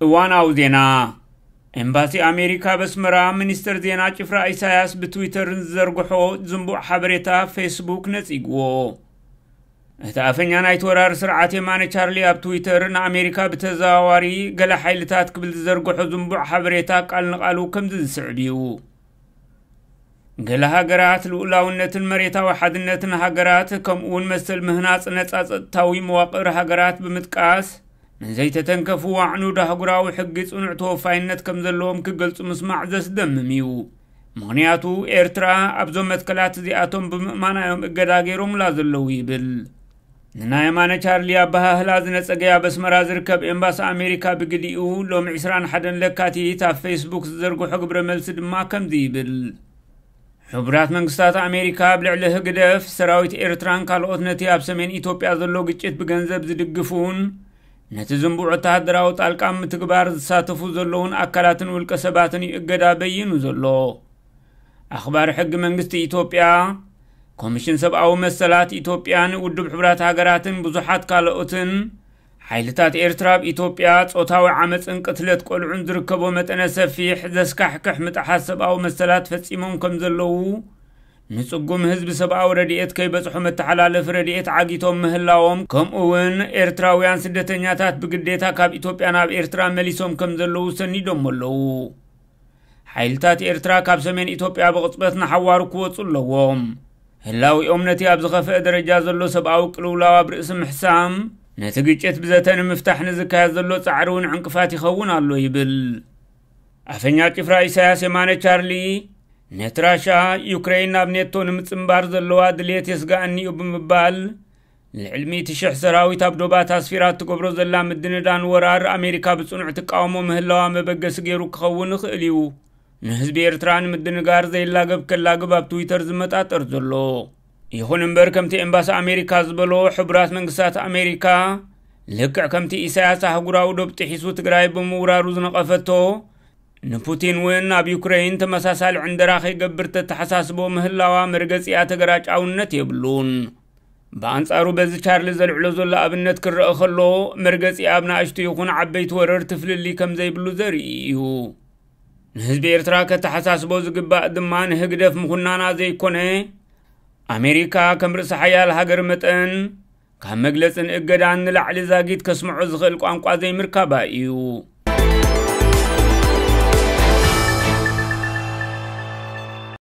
እዋናዊ ዜና። ኤምባሲ ኣሜሪካ ኣብ ኣስመራ፣ ሚኒስተር ዜና ጭፍራ ኢሳያስ ብትዊተር ንዝዘርግሖ ዝንቡዕ ሓበሬታ ፌስቡክ ነጺግዎ። እቲ ኣፈኛ ናይቲ ወራር ስርዓት የማነ ቻርሊ ኣብ ትዊተር ንኣሜሪካ ብተዘዋዋሪ ገለ ሓይልታት ክብል ዝዘርግሖ ዝንቡዕ ሓበሬታ ቃል ንቓሉ ከምዚ ዝስዕብ እዩ። ገለ ሃገራት ልኡላውነትን መሬታዊ ሓድነትን ሃገራት፣ ከምኡ እውን መሰል ምህናጽ ነጻ ጸጥታዊ መዋቕር ሃገራት ብምጥቃስ፣ ንዘይተተንከፉ ዋዕኑ ዳህጉራዊ ሕጊ ጽኑዕ ተወፋይነት ከም ዘለዎም ክገልጹ ምስማዕ ዘስደምም እዩ። ምኽንያቱ፣ ኤርትራ ኣብዞም መትከላት እዚኣቶም ብምእማና እዮም እገዳ ገይሮምላ ዘለዉ ይብል። ንናይ የማነ ቻርሊ ኣበሃህላ ዝነጸገ ኣብ ኣስመራ ዝርከብ ኤምባሲ ኣሜሪካ ብግዲኡ፣ ሎሚ ዕስራን ሓደን ለካቲት ኣብ ፌስቡክ ዝዘርግሖ ግብረ መልሲ ድማ ከምዚ ይብል። ሕቡራት መንግስታት ኣሜሪካ ኣብ ልዕሊ ህግደፍ፣ ሰራዊት ኤርትራን ካልኦት ነቲ ኣብ ሰሜን ኢትዮጵያ ዘሎ ግጭት ብገንዘብ ዝድግፉን ነቲ ዝንቡዕ ወተሃደራዊ ጣልቃ ምትግባር ዝሳተፉ ዘለውን ኣካላትን ውልቀ ሰባትን እዩ እገዳ በይኑ ዘሎ። ኣኽባሪ ሕጊ መንግስቲ ኢትዮጵያ፣ ኮሚሽን ሰብኣዊ መሰላት ኢትዮጵያን ውድብ ሕቡራት ሃገራትን ብዙሓት ካልኦትን፣ ሓይልታት ኤርትራ ኣብ ኢትዮጵያ ጾታዊ ዓመጽን ቅትለት ቆልዑን ዝርከቦ መጠነ ሰፊሕ ዘስካሕክሕ ምጥሓስ ሰብኣዊ መሰላት ፈጺሞም ከም ዘለዉ፣ ንጽጉም ህዝቢ ሰብኣዊ ረድኤት ከይበጽሖ መተሓላለፊ ረድኤት ዓጊቶም ምህላዎም፣ ከምኡ እውን ኤርትራውያን ስደተኛታት ብግዴታ ካብ ኢትዮጵያ ናብ ኤርትራ መሊሶም ከም ዘለዉ ሰኒዶም ኣለዉ። ሓይልታት ኤርትራ ካብ ሰሜን ኢትዮጵያ ብቕጽበት ንሓዋሩ ክወጹ ኣለዎም። ህላዊኦም ነቲ ኣብ ዝኸፍአ ደረጃ ዘሎ ሰብኣዊ ቅልውላው ኣብ ርእሲ ምሕሳም፣ ነቲ ግጭት ብዘተ ንምፍታሕ ንዝካየድ ዘሎ ጻዕሪ እውን ዕንቅፋት ይኸውን ኣሎ ይብል። ኣፈኛ ጭፍራ ኢሳያስ የማነ ቻርሊ፣ ነቲ ራሻ፣ ዩክሬን ናብ ኔቶ ንምጽንባር ዘለዋ ድልየት የስጋእኒ እዩ ብምባል፣ ልዕሊ ሚእቲ ሽሕ ሰራዊት ኣብ ዶባት ኣስፊራ እትገብሮ ዘላ ምድንዳን ወራር ኣሜሪካ ብጽኑዕ ትቃወሞ ምህላዋ መበገሲ ገይሩ ክኸውን ይኽእል እዩ፣ ንህዝቢ ኤርትራ ንምድንጋር ዘይላገብ ከላግብ ኣብ ትዊተር ዝመጣጠር ዘሎ። ይኹን እምበር፣ ከምቲ ኤምባሲ ኣሜሪካ ዝበሎ፣ ሕቡራት መንግስታት ኣሜሪካ፣ ልክዕ ከምቲ ኢሳያስ ኣህጉራዊ ዶብ ጥሒሱ ትግራይ ብምውራሩ ዝነቐፈቶ፣ ንፑቲን እውን ኣብ ዩክሬን ተመሳሳሊ ዕንደራ ከይገብር ተተሓሳስቦ ምህላዋ መርገጺኣ ተገራጫውነት የብሉን። ብኣንጻሩ፣ በዚ ቻርሊ ዘልዕሎ ዘሎ ኣብነት ክረአ ከሎ፣ መርገጺኣ ኣብ ንኣሽቱ ይኹን ዓበይቲ ወረርቲ ፍልልይ ከም ዘይብሉ ዘርኢ እዩ። ንህዝቢ ኤርትራ ከተሓሳስቦ ዝግባእ ድማ ንህግደፍ ምኹናና ዘይኮነ፣ ኣሜሪካ ከም ርእሰ ሓያል ሃገር መጠን፣ ካብ መግለጽን እገዳን ንላዕሊ ዛጊት ከስምዖ ዝኽእል ቋንቋ ዘይምርካባ እዩ።